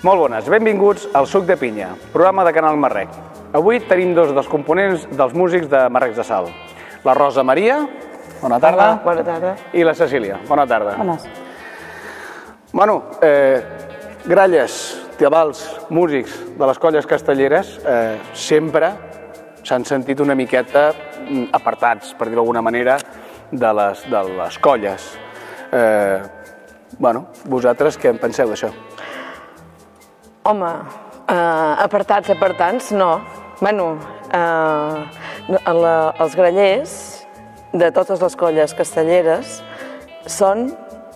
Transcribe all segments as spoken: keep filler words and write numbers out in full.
Molt bones, benvinguts al Suc de Pinya, programa de Canal Marrec. Avui tenim dos dels components dels músics de Marrecs de Salt. La Rosa Maria, bona tarda. Hola, bona tarda. I la Cecília, bona tarda. Bones. Bueno, eh, gralles, tabals, músics de les colles castelleres eh, sempre s'han sentit una miqueta apartats, per dir-ho d'alguna manera, de les, de les colles. Eh, bueno, vosaltres què en penseu d'això? Home, eh, apartats, apartats, no. Bueno, eh, la, els grallers de totes les colles castelleres són,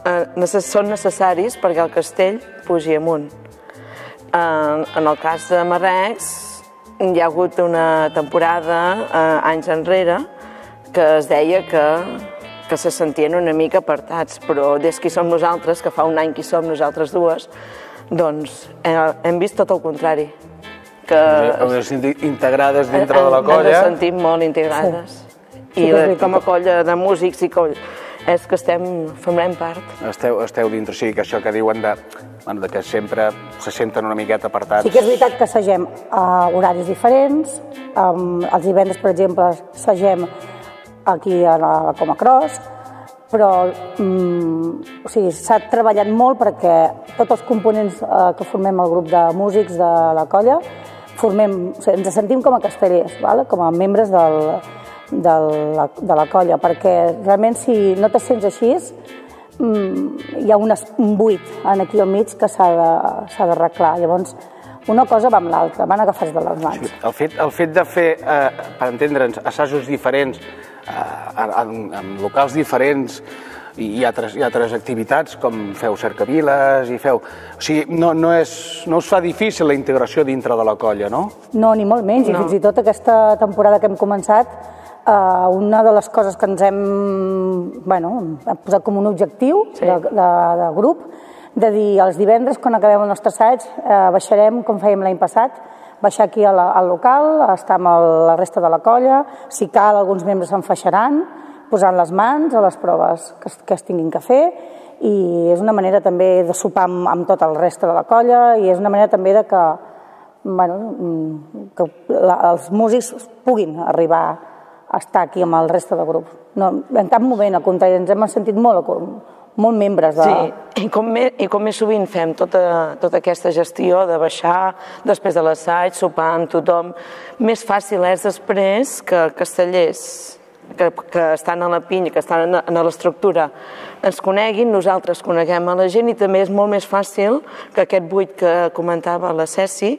eh, necess, són necessaris perquè el castell pugi amunt. Eh, en el cas de Marrecs, hi ha hagut una temporada, eh, anys enrere, que es deia que, que se sentien una mica apartats, però des que hi som nosaltres, que fa un any que hi som nosaltres dues, doncs hem vist tot el contrari. Que heu de sentir integrades dintre de la colla. Ens hem sentit molt integrades. I com a colla de músics i colla, és que estem, formem part. Esteu, esteu dintre, o sigui, que això que diuen de, bueno, de que sempre se senten una miqueta apartats. Sí que és veritat que assagem a horaris diferents. Um, els divendres, per exemple, assagem aquí a la, a la Coma Cross, però um, o sigui, s'ha treballat molt perquè tots els components uh, que formem el grup de músics de la colla formem, o sigui, ens sentim com a castellers, ¿vale? Com a membres del, del, de la colla, perquè realment si no te sents així um, hi ha un, un buit aquí al mig que s'ha d'arreglar. Llavors, una cosa va amb l'altra, van agafats de les mans. Sí, el, fet, el fet de fer, eh, per entendre'ns, assajos diferents, eh, en, en locals diferents i, i, altres, i altres activitats, com feu cercaviles i feu... O sigui, no, no, és, no us fa difícil la integració dintre de la colla, no? No, ni molt menys, no. I fins i tot aquesta temporada que hem començat, eh, una de les coses que ens hem, bueno, hem posat com un objectiu sí. de, de, de grup, de dir els divendres, quan acabem el nostre assaig, eh, baixarem, com fèiem l'any passat, baixar aquí al, al local, estar amb el, la resta de la colla, si cal alguns membres s'enfaixaran, posant les mans a les proves que, que es tinguin que fer, i és una manera també de sopar amb, amb tot el reste de la colla, i és una manera també de que, bueno, que la, els músics puguin arribar a estar aquí amb el reste de grup. No, en cap moment, al contrari, ens hem sentit molt molt membres de... Sí, i com, més, i com més sovint fem tota, tota aquesta gestió de baixar després de l'assaig, sopar amb tothom, més fàcil és després que castellers que, que estan a la pinya, que estan a l'estructura, ens coneguin, nosaltres coneguem a la gent, i també és molt més fàcil que aquest buit que comentava la Ceci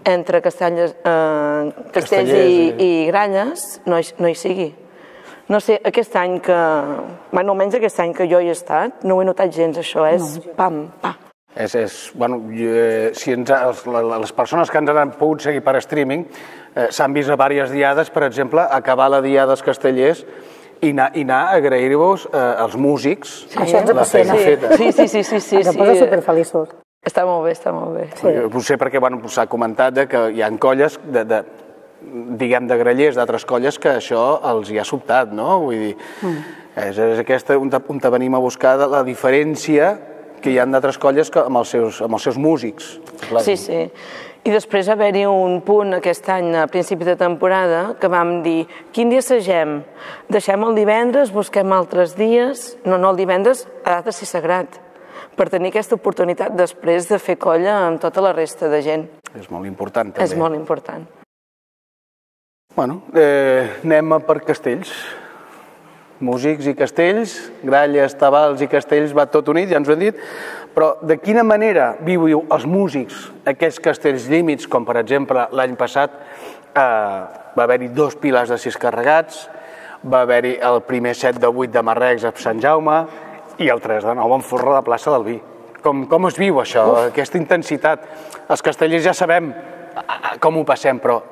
entre castells, eh, castells i, i gralles no hi, no hi sigui. No sé, aquest any que... Bueno, almenys aquest any que jo hi he estat, no ho he notat gens, això, és pam, pa. És, és, bueno, si ens, les persones que ens han pogut seguir per streaming eh, s'han vist a diverses diades, per exemple, acabar la diada dels castellers i anar, i anar a agrair-vos eh, als músics sí, això ens la feina sí. feta. Sí, sí, sí, sí, sí, ens posa superfeliços. Està molt bé, està molt bé. Sí. Potser perquè bueno, s'ha comentat que hi ha colles de, de diguem, de grallers d'altres colles que això els hi ha sobtat, no? Vull dir, mm. és, és aquesta on, on venim a buscar la diferència que hi ha d'altres colles que amb, els seus, amb els seus músics. Clar. Sí, sí. I després haver-hi un punt aquest any, a principi de temporada, que vam dir, quin dia assagem? Deixem el divendres, busquem altres dies... No, no, el divendres ha de ser sagrat, per tenir aquesta oportunitat després de fer colla amb tota la resta de gent. És molt important, també. És molt important. Bueno, eh, anem per castells. Músics i castells, gralles, tabals i castells, va tot unit, ja ens ho hem dit, però de quina manera viviu els músics aquests castells límits, com per exemple l'any passat eh, va haver-hi dos pilars de sis carregats, va haver-hi el primer set de vuit de Marrecs a Sant Jaume i el tres de nou en Forra de Plaça del Vi. Com, com es viu això, Uf. aquesta intensitat? Els castellers ja sabem com ho passem, però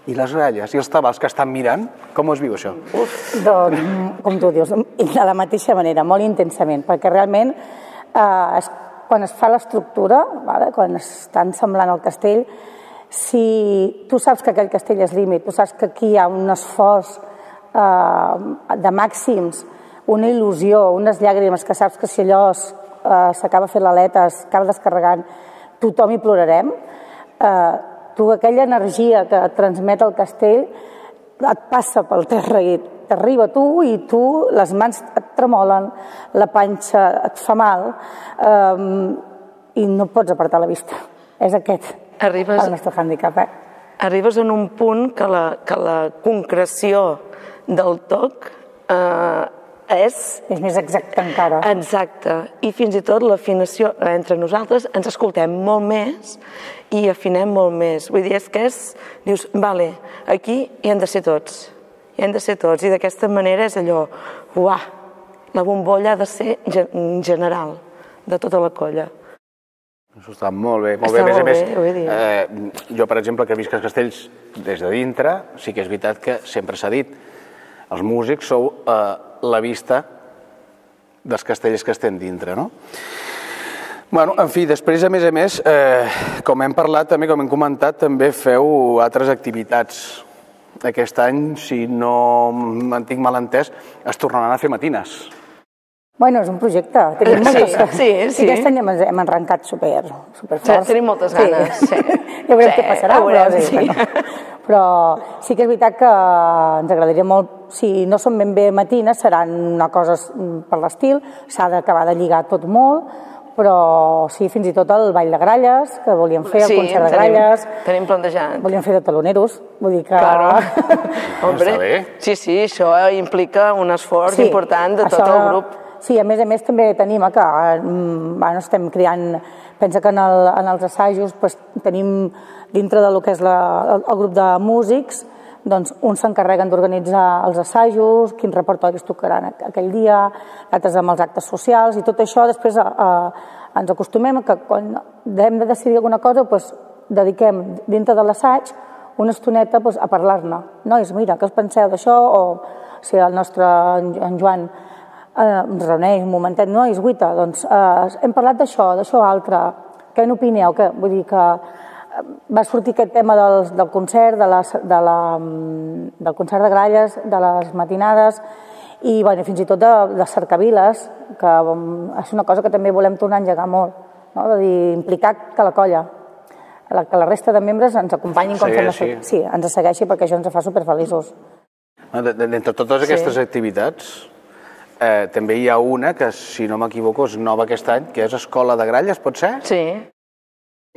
i les gralles i els tabals que estan mirant, com es viu això? Uf, doncs, com tu dius, de la mateixa manera, molt intensament, perquè realment eh, es, quan es fa l'estructura, vale, quan està ensemblant el castell, si tu saps que aquell castell és límit, tu saps que aquí hi ha un esforç eh, de màxims, una il·lusió, unes llàgrimes, que saps que si allò s'acaba fent l'aleta, s'acaba descarregant, tothom hi plorarem. Tu, aquella energia que et transmet el castell, et passa pel terra i t'arriba a tu i tu, les mans et tremolen, la panxa et fa mal i no pots apartar la vista. És aquest el nostre hàndicap. Arribes en un punt que la concreció del toc és... És més exacte encara. Exacte. I fins i tot l'afinació entre nosaltres ens escoltem molt més i afinem molt més. Vull dir, és que és... Dius, vale, aquí hi han de ser tots. Hi han de ser tots. I d'aquesta manera és allò... Uah! La bombolla ha de ser general de tota la colla. Això està molt bé. Molt bé, a més a més, jo, per exemple, que visc als castells des de dintre, sí que és veritat que sempre s'ha dit, els músics sou la vista dels castells que estem dintre, no? Bueno, en fi, després, a més a més, com hem parlat també, com hem comentat, també feu altres activitats. Aquest any, si no me'n tinc mal entès, es tornaran a fer matines. Bueno, és un projecte. Tenim moltes ganes. Sí, sí. I aquest any hem arrencat superforts. Tenim moltes ganes, sí. Ja veurem què passarà, però però sí que és veritat que ens agradaria molt, si no són ben bé matines, seran una cosa per l'estil, s'ha d'acabar de lligar tot molt, però sí, fins i tot el ball de gralles, que volíem fer, el concert de gralles. Sí, tenim plantejat. Volíem fer de taloneros, vull dir que... Claro. Hombre, sí, sí, això implica un esforç important de tot el grup. Sí, a més a més també tenim que estem creant, pensa que en els assajos tenim dintre del que és el grup de músics, doncs uns s'encarreguen d'organitzar els assajos, quins repertoris tocaran aquell dia, altres amb els actes socials i tot això després ens acostumem que quan hem de decidir alguna cosa dediquem dintre de l'assaig una estoneta a parlar-ne. Nois, mira, què us penseu d'això? O si el nostre en Joan ens reuneix un momentet, nois, guita, doncs hem parlat d'això, d'això altre, què n'opineu? Vull dir que va sortir aquest tema del concert, del concert de gralles, de les matinades i fins i tot de cercaviles, que és una cosa que també volem tornar a engegar molt, de dir, implicar que la colla, que la resta de membres ens acompanyin com fem... Sí, ens segueixi perquè això ens fa superfeliços. D'entre totes aquestes activitats, també hi ha una que, si no m'equivoco, és nova aquest any, que és Escola de Gralles, pot ser? Sí.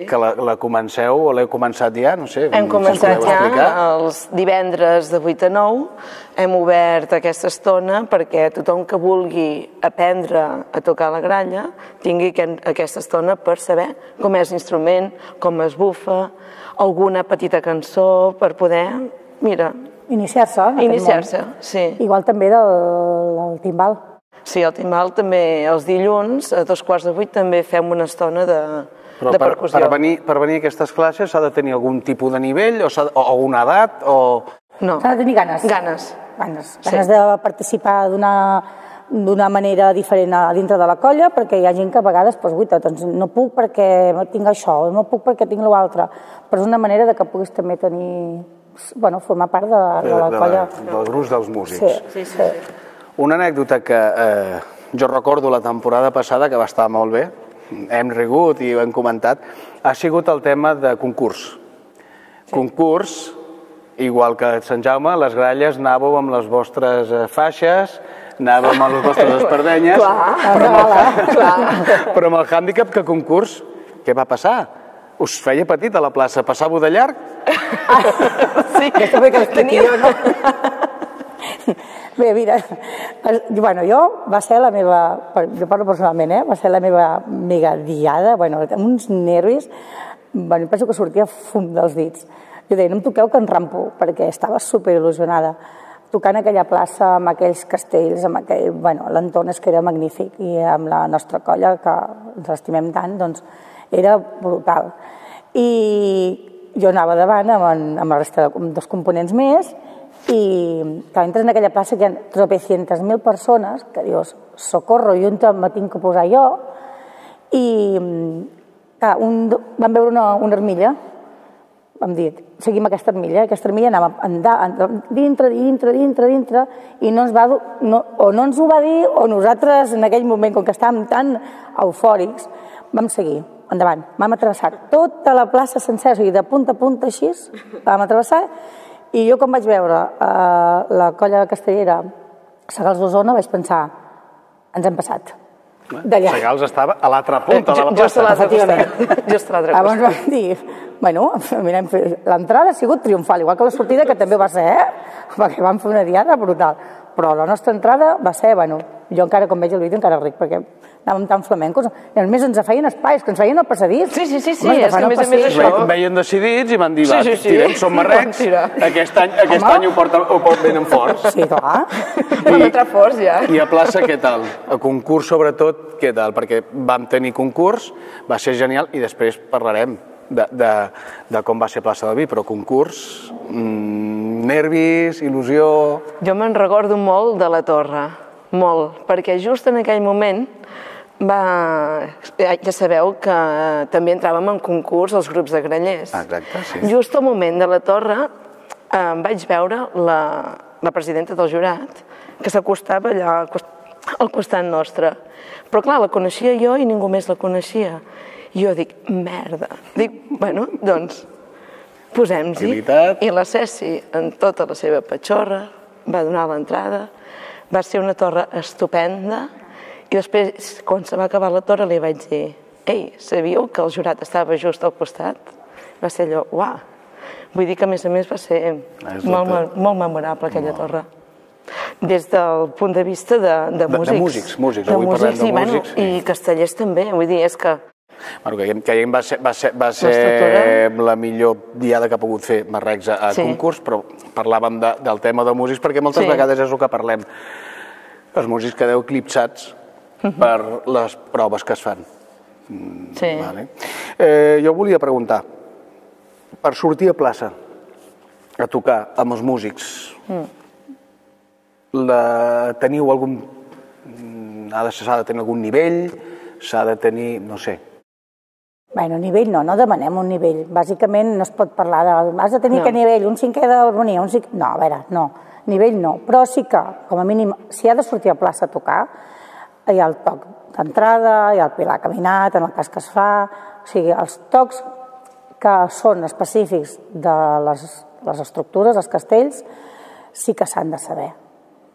Que la comenceu o l'heu començat ja, no sé. Hem començat ja els divendres de vuit a nou, hem obert aquesta estona perquè tothom que vulgui aprendre a tocar la gralla tingui aquesta estona per saber com és l'instrument, com es bufa, alguna petita cançó per poder, mira... Iniciar-se. Iniciar-se, sí. Igual també del timbal. Sí, el timbal també, els dilluns, a dos quarts de vuit, també fem una estona de... Però per venir a aquestes classes s'ha de tenir algun tipus de nivell o una edat o... No. S'ha de tenir ganes. Ganes. Ganes. Ganes de participar d'una manera diferent dintre de la colla, perquè hi ha gent que a vegades, doncs, no puc perquè tinc això, no puc perquè tinc l'altre, però és una manera que puguis també tenir... Bueno, formar part de la colla. Del gruix dels músics. Sí, sí. Una anècdota que jo recordo la temporada passada, que va estar molt bé, hem rigut i ho hem comentat, ha sigut el tema de concurs. Concurs, igual que a Sant Jaume, les gralles anàveu amb les vostres faixes, anàveu amb les vostres espardenyes, però amb el hàndicap que concurs, què va passar? Us feia petit a la plaça, passava de llarg? Sí, aquesta ve que l'expliqui jo, no? Bé, mira, bueno, jo va ser la meva, jo parlo personalment, eh? Va ser la meva mega diada, bueno, amb uns nervis, bueno, penso que sortia fum dels dits. Jo deia, no em toqueu que em rampo, perquè estava superil·lusionada. Tocant aquella plaça amb aquells castells, amb aquell, bueno, l'entorn és que era magnífic i amb la nostra colla, que ens estimem tant, doncs era brutal. I jo anava davant amb la resta dels components més i que entres en aquella plaça que hi ha tropecientas mil persones que dius, socorro, i on me tinc que posar jo? I vam veure una armilla, vam dir, seguim aquesta armilla, aquesta armilla anava dintre, dintre, dintre, dintre, i no ens va, o no ens ho va dir, o nosaltres en aquell moment, com que estàvem tan eufòrics, vam seguir. endavant. Vam travessar tota la plaça sencera, o sigui, de punta a punta així, vam travessar, i jo quan vaig veure eh, la colla castellera Segals d'Osona vaig pensar, ens hem passat. D'allà. Segals estava a l'altra punta de la Just a plaça. l'altre costat. Just a l'altre Llavors costat. vam dir, bueno, mirem, l'entrada ha sigut triomfal, igual que la sortida, que també va ser, eh? Perquè vam fer una diada brutal. Però la nostra entrada va ser, bueno, jo encara, quan veig el vídeo, encara ric, perquè anàvem tan flamencos, i a més ens feien espais, que ens feien el passadís. Sí, sí, sí, sí, Home, és que a més a més això... Ve- Veien decidits i van dir, va, Sí, sí, sí. tirem, som marrecs, Tira. aquest any, aquest any ho, porta, ho pot venen forts. Sí, clar. Vam entrar forts, ja. I a plaça, què tal? A concurs, sobretot, què tal? Perquè vam tenir concurs, va ser genial, i després parlarem de, de, de com va ser plaça del Vi, però concurs, mmm, nervis, il·lusió... Jo me'n recordo molt de la Torre, molt, perquè just en aquell moment va... ja sabeu que també entràvem en concurs els grups de grallers. Exacte, sí. Just al moment de la Torre eh, vaig veure la, la presidenta del jurat que s'acostava allà al cost- al costat nostre. Però clar, la coneixia jo i ningú més la coneixia. I jo dic, merda. Dic, bueno, doncs, posem-s'hi. Habilitat. I la Ceci, en tota la seva patxorra, va donar l'entrada. Va ser una torre estupenda. I després, quan se va acabar la torre, li vaig dir, ei, sabíeu que el jurat estava just al costat? Va ser allò, uah. Vull dir que, a més a més, va ser molt, molt, molt memorable aquella torre. Des del punt de vista de, de músics. De músics, músics. Avui parlem de i, bueno, músics. I castellers també, vull dir, és que... Bueno, que, que va ser, va ser, va ser la millor diada que ha pogut fer Marrecs a, a Sí. concurs, però parlàvem de, del tema de músics, perquè moltes Sí. vegades és el que parlem. Els músics quedeu eclipsats per les proves que es fan. Sí. Vale. Eh, jo volia preguntar, per sortir a plaça a tocar amb els músics, la, teniu algun... ha de, s'ha de tenir algun nivell, s'ha de tenir, no sé... Bueno, nivell no, no demanem un nivell. Bàsicament no es pot parlar de... Has de tenir No. que nivell, un cinquè d'harmonia, un cinquè... No, a veure, no, nivell no. Però sí que, com a mínim, si ha de sortir a plaça a tocar, hi ha el toc d'entrada, hi ha el pilar caminat, en el cas que es fa... O sigui, els tocs que són específics de les, les estructures, els castells, sí que s'han de saber.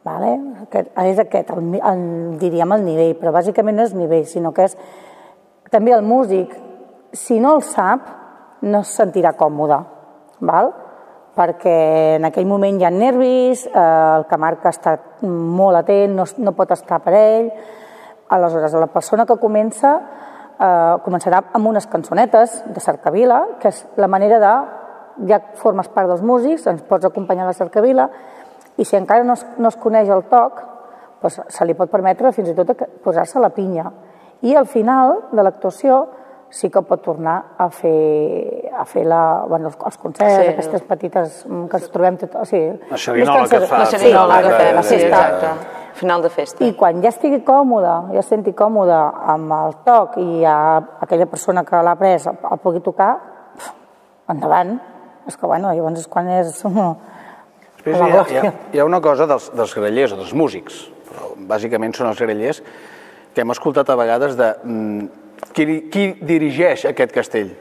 Vale? Aquest, és aquest, el, el, diríem el nivell, però bàsicament no és nivell, sinó que és també el músic, si no el sap, no es sentirà còmode, val? Perquè en aquell moment hi ha nervis, eh, el que marca està molt atent, no, no pot estar per ell. Aleshores, la persona que comença eh, començarà amb unes cançonetes de cercavila, que és la manera de, ja formes part dels músics, ens pots acompanyar a la cercavila, i si encara no es, no es coneix el toc, doncs se li pot permetre fins i tot posar-se la pinya. I al final de l'actuació sí que pot tornar a fer, a fer la, bueno, els concerts, sí, aquestes petites que ens trobem... Tot, o sigui, la xerinola que fa. La xerinola que fem, sí, festa. exacte. Final de festa. I quan ja estigui còmode, ja es senti còmode amb el toc i ja aquella persona que l'ha pres el pugui tocar, endavant. És que, bueno, llavors és quan és... Després hi ha, hi, ha, hi ha una cosa dels, dels grallers o dels músics, però bàsicament són els grallers, que hem escoltat a vegades de qui, qui dirigeix aquest castell.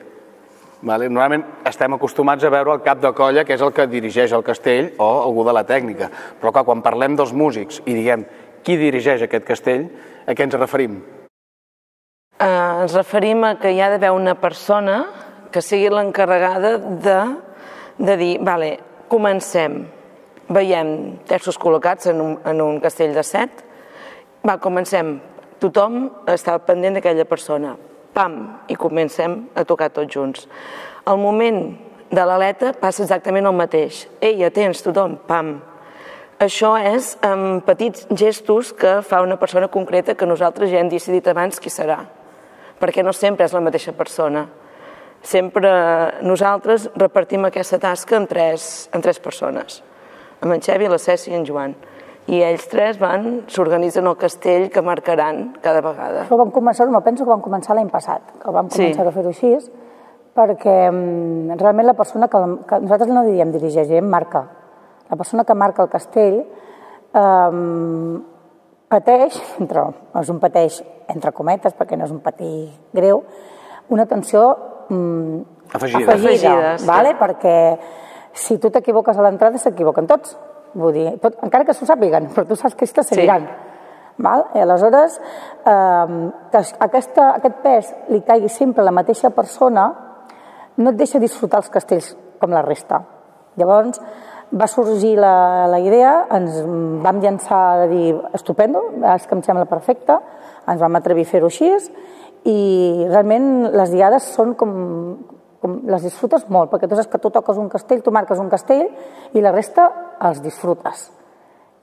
Vale? Normalment estem acostumats a veure el cap de colla, que és el que dirigeix el castell, o algú de la tècnica. Però clar, quan parlem dels músics i diguem qui dirigeix aquest castell, a què ens referim? Uh, ens referim a que hi ha d'haver una persona que sigui l'encarregada de, de dir, vale, comencem. Veiem terços col·locats en un, en un castell de set, va, comencem, tothom està pendent d'aquella persona, pam, i comencem a tocar tots junts. Al moment de l'aleta passa exactament el mateix, ei, atents, tothom, pam. Això és amb petits gestos que fa una persona concreta que nosaltres ja hem decidit abans qui serà, perquè no sempre és la mateixa persona. Sempre nosaltres repartim aquesta tasca en tres, en tres persones, amb en Xevi, la Ceci i en Joan. I ells tres van, s'organitzen el castell que marcaran cada vegada. Però vam començar, no penso que vam començar l'any passat, que vam començar sí. a fer-ho així, perquè um, realment la persona que, que nosaltres no diríem dirigeix, diríem marca. La persona que marca el castell um, pateix, entre, és un pateix entre cometes, perquè no és un patí greu, una atenció afegida, afegida vale? Perquè si tu t'equivoques a l'entrada, s'equivoquen tots. Vull dir, tot, encara que s'ho sàpiguen, però tu saps que ells te seguiran. Sí. Val? I aleshores, eh, que aquesta, aquest pes li caigui sempre a la mateixa persona, no et deixa disfrutar els castells com la resta. Llavors, va sorgir la, la idea, ens vam llançar a dir, estupendo, és que em sembla perfecte, ens vam atrevir a fer-ho així, i realment les diades són com, com les disfrutes molt, perquè tu saps que tu toques un castell, tu marques un castell, i la resta els disfrutes.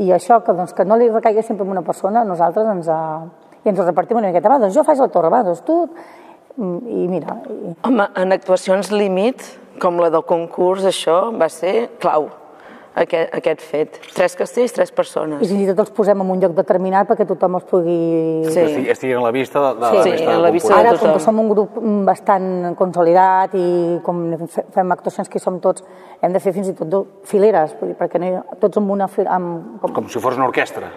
I això, que, doncs, que no li recaigui sempre en una persona, nosaltres ens, uh, i ens ho repartim una miqueta, va, doncs jo faig la torre, va, doncs tu, i mira... I... Home, en actuacions límit, com la del concurs, això va ser clau, aquest, aquest fet. Tres castells, tres persones. I fins i tot els posem en un lloc determinat perquè tothom els pugui... Sí. Que estiguin a la vista de, de sí, la resta sí, de la vista Ara, com que som un grup bastant consolidat i com fem actuacions que hi som tots, hem de fer fins i tot fileres, perquè no, tots amb una... Amb, com... com si fos una orquestra.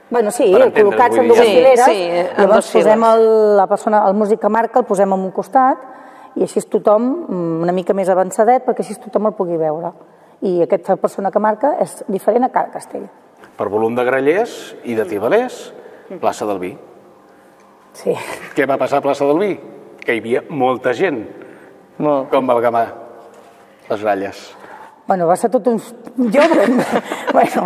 Bueno, sí, col·locats en dues sí, fileres, sí, llavors posem el, la persona, el músic que marca, el posem en un costat i així tothom, una mica més avançadet, perquè així tothom el pugui veure. I aquesta persona que marca és diferent a cada castell. Per volum de grallers i de tibalers, plaça del Vi. Sí. Què va passar a plaça del Vi? Que hi havia molta gent. Molt. Com va acabar les gralles? Bueno, va ser tot un... Jo, bueno,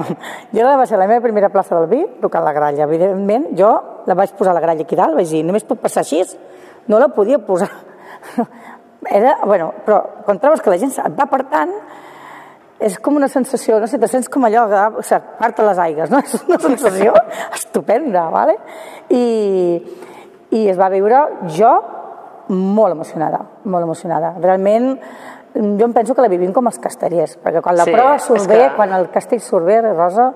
jo la va ser la meva primera plaça del Vi, tocant la gralla. Evidentment, jo la vaig posar la gralla aquí dalt, vaig dir, només pot passar així, no la podia posar. Era, bueno, però quan trobes que la gent et va apartant, és com una sensació, no sé, te sents com allò que o sigui, part les aigues, no? És una sensació estupenda, ¿vale? I, i es va viure jo molt emocionada, molt emocionada. Realment, jo em penso que la vivim com els castellers, perquè quan la sí, prova surt bé, que... quan el castell surt bé, Rosa,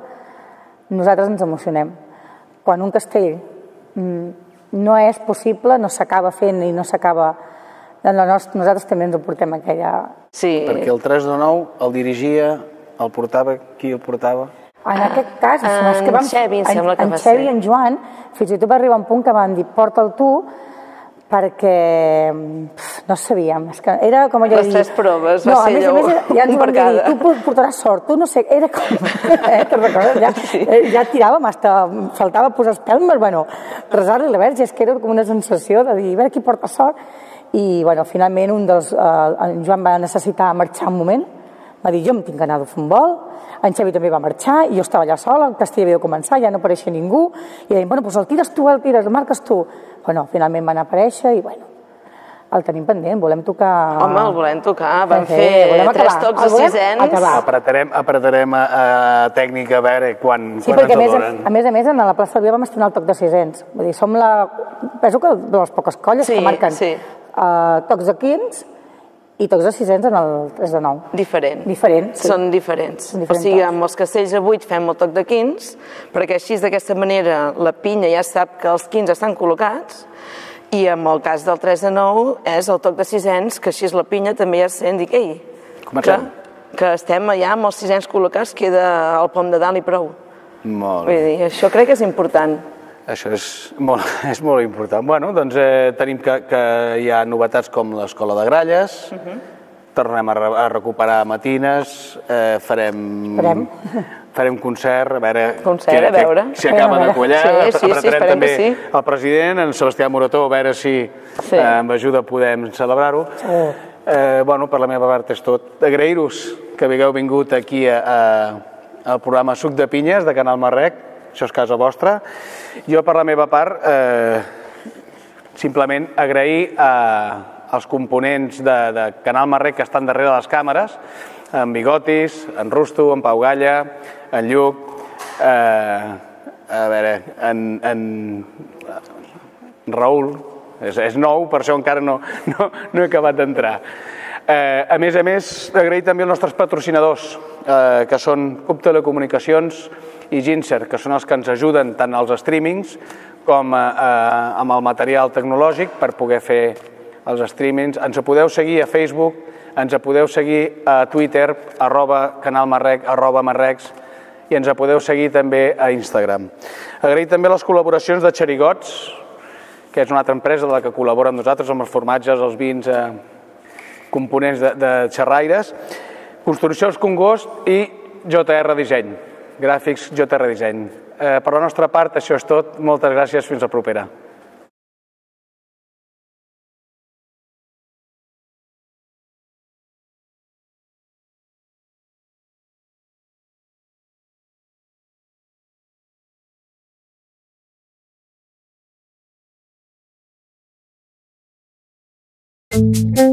nosaltres ens emocionem. Quan un castell no és possible, no s'acaba fent i no s'acaba... Nosaltres també ens ho portem aquella... Sí. Perquè el tres de nou el dirigia, el portava, qui el portava? En aquest cas, en que vam, Xevi, em sembla que en va ser. En Xevi i en Joan, fins i tot va arribar un punt que van dir, porta'l tu, perquè pf, no sabíem. És que era com allò... Les tres proves, va no, ser allò, ja ens van dir, tu portaràs sort, tu no sé, era com... Eh, te'n recordes? Ja, sí. ja tiràvem, hasta faltava posar espelmes, bueno, resar-li a la Verge, és que era com una sensació de dir, a veure qui porta sort. I, bueno, finalment, un dels... Eh, en Joan va necessitar marxar un moment, va dir, jo em tinc que anar a fer un vol, en Xavi també va marxar, i jo estava allà sola, el castell havia de començar, ja no apareixia ningú, i deien, bueno, doncs el tires tu, el tires, el marques tu. Bueno, finalment van aparèixer i, bueno, el tenim pendent, volem tocar... Home, el volem tocar, vam fer, fer tres tocs de sisens. Apretarem, apretarem a, a tècnica a veure quan, sí, quan ens el donen. A més a més, a la plaça del Vi vam estrenar el toc de sisens. Vull dir, som la... Penso que de les poques colles sí, que marquen sí. uh, tocs de quinze i tocs de sisens en el tres de nou. Diferent. Diferent, sí. Són diferents. Són diferents. O sigui, amb els castells de vuit fem el toc de quinze, perquè així d'aquesta manera la pinya ja sap que els quinze estan col·locats, i en el cas del tres de nou és el toc de sisens, que així la pinya també ja sent, dic, ei, que, que estem allà amb els sisens col·locats, queda el pom de dalt i prou. Molt bé. Vull dir, això crec que és important. Això és molt, és molt important. Bueno, doncs eh, tenim que, que hi ha novetats com l'escola de gralles, uh-huh. tornem a, re, a recuperar matines, eh, farem... Farem. Farem concert, a veure, concert, que, a veure. Que, si acaba de quallar, sí, sí, apretarem sí, també sí. el president, en Sebastià Morató, a veure si sí. eh, amb ajuda podem celebrar-ho. Sí. Eh, bueno, per la meva part és tot. Agrair-vos que hagueu vingut aquí a, a, al programa Suc de Pinyes de Canal Marrec, això és casa vostra. Jo, per la meva part, eh, simplement agrair a, als components de, de Canal Marrec que estan darrere de les càmeres, en Bigotis, en Rusto, en Pau Galla, en Lluc, eh, a veure, en, en Raül, és, és nou, per això encara no, no, no he acabat d'entrar. Eh, a més a més, agrair també als nostres patrocinadors, eh, que són Cup Telecomunicacions i Ginser, que són els que ens ajuden tant als streamings com a, a, amb el material tecnològic per poder fer els streamings. Ens podeu seguir a Facebook, ens podeu seguir a Twitter, arroba canalmarrec, arroba marrecs, i ens podeu seguir també a Instagram. Agrair també les col·laboracions de Xerigots, que és una altra empresa de la que col·labora amb nosaltres, amb els formatges, els vins, components de xerraires, Construccions Congost i J R Disseny, gràfics J R Disseny. Per la nostra part, això és tot. Moltes gràcies, fins la propera. Thank you.